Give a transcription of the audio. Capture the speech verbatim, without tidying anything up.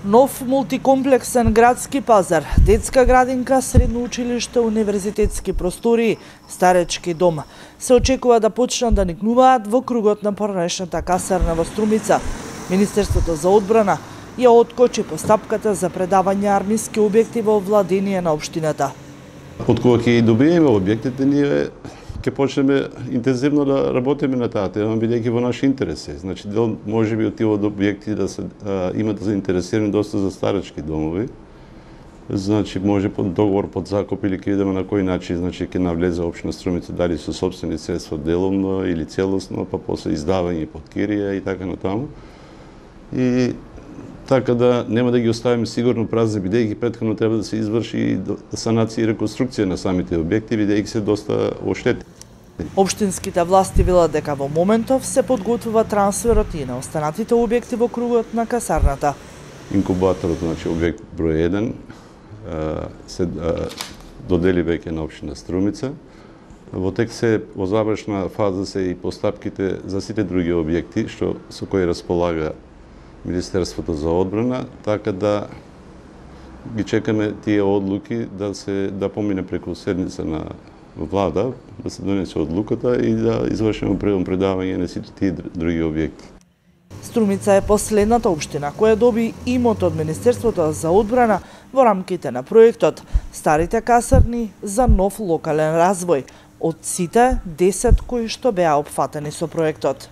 Нов мултикомплексен градски пазар, детска градинка, средно училиште, универзитетски простори, старечки дом се очекува да почнат да никнуваат во кругот на поранешната касарна во Струмица. Министерството за одбрана ја откочи постапката за предавање армиски објекти во владение на општината. Од кога ќе добиеме објектите, ние ќе почнеме интензивно да работиме на таа тема, бидејќи во наш интерес е. Значи, дел може би од тие објекти да се а, имат заинтересирани доста за старечки домови. Значи, може под договор, под закуп или ќе видиме на кој начин, значи ќе навлезе општина Струмица, дали со сопствени средства деломно или целосно, па после издавање под кирија и така натаму. И така да нема да ги оставиме сигурно празни, бидејќи претходно треба да се изврши санација и реконструкција на самите објекти, бидејќи се доста оштети. Општинските власти велат дека во моментов се подготвува трансферот и на останатите објекти во кругот на касарната. Инкубаторот, значи објект број еден, се додели веќе на општина Струмица. Во тек се во завршна фаза се и постапките за сите други објекти што со кои располага Министерството за одбрана, така да ги чекаме тие одлуки да се да помине преку седница на влада, да се донесе одлуката и да извршиме предом предавање на сите тие други објекти. Струмица е последната општина која доби имот од Министерството за одбрана во рамките на проектот Старите касарни за нов локален развој од сите десет кои што беа опфатени со проектот.